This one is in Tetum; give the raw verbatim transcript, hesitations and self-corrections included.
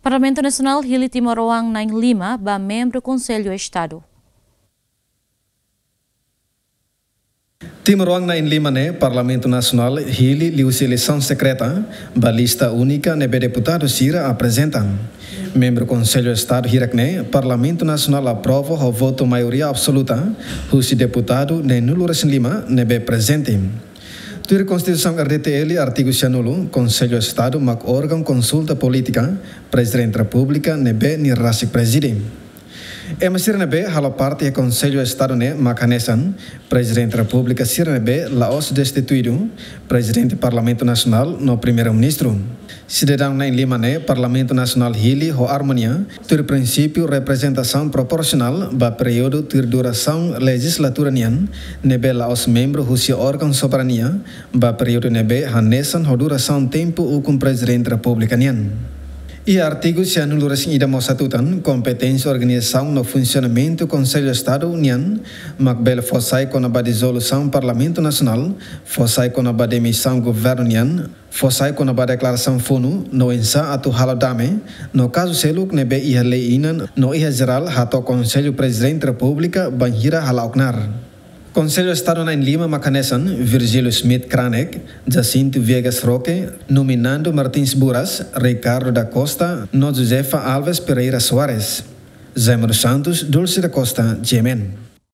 Parlamentu Nasionál hili timoroan na'in-lima ba membru Konsellu Estadu. Timoroan na'in-lima ne'e Parlamentu Nasionál hili liuhusi eleisaun sekreta ba lista únika ne'ebé deputadu sira aprezenta. Membru Konsellu Estadu hirak ne'e Parlamentu Nasionál aprova ho votu maioria absoluta husi deputadu neenulu-resin-lima ne'ebé prezente. Tuir Konstituisaun R D T L artigu sianulu, Konsellu Estadu mak órgaun konsulta polítika, Prezidente Repúblika ne'ebé nia rasik prezide. Ema sira ne'ebé halo parte iha Konsellu Estadu ne'e mak hanesan Prezidente Repúblika sira ne'ebé la'ós destituidu, Prezidente Parlamentu Nasionál no Primeiru-Ministru. Sidadaun na'in-lima ne'e Parlamentu Nasionál hili ho armonia, tuir prinsípiu reprezentasaun proporsionál ba períodu tuir durasaun lejizlatura nian, ne'ebé la'ós membru husi órgaun soberania, ba períodu ne'ebé hanesan ho durasaun tempu ukun Prezidente Repúblika nian. Iha artigu sianulu-resin-ida mós hatutan, kompeténsia organizasaun no funsionamentu Konsellu Estadu nian, mak bele fó sai kona-ba dizolusaun Parlamentu Nasionál, fó sai kona-ba demisaun governu nian, fó sai kona-ba deklarasaun funu, no oinsá atu halo dame, no kazu seluk ne'ebé iha lei inan, no iha jerál hato'o Konsellu Prezidente Repúblika bainhira hala'o knaar. Konsellu Estadu na'in-lima mak hanesan Virgílio Schmidt Kranek, Jacinto Viegas Roque, Numinando Martins Buras, Ricardo da Costa, no Josefa Alves Pereira Soares. Jaime dos Santos, Dulce da Costa, G M N.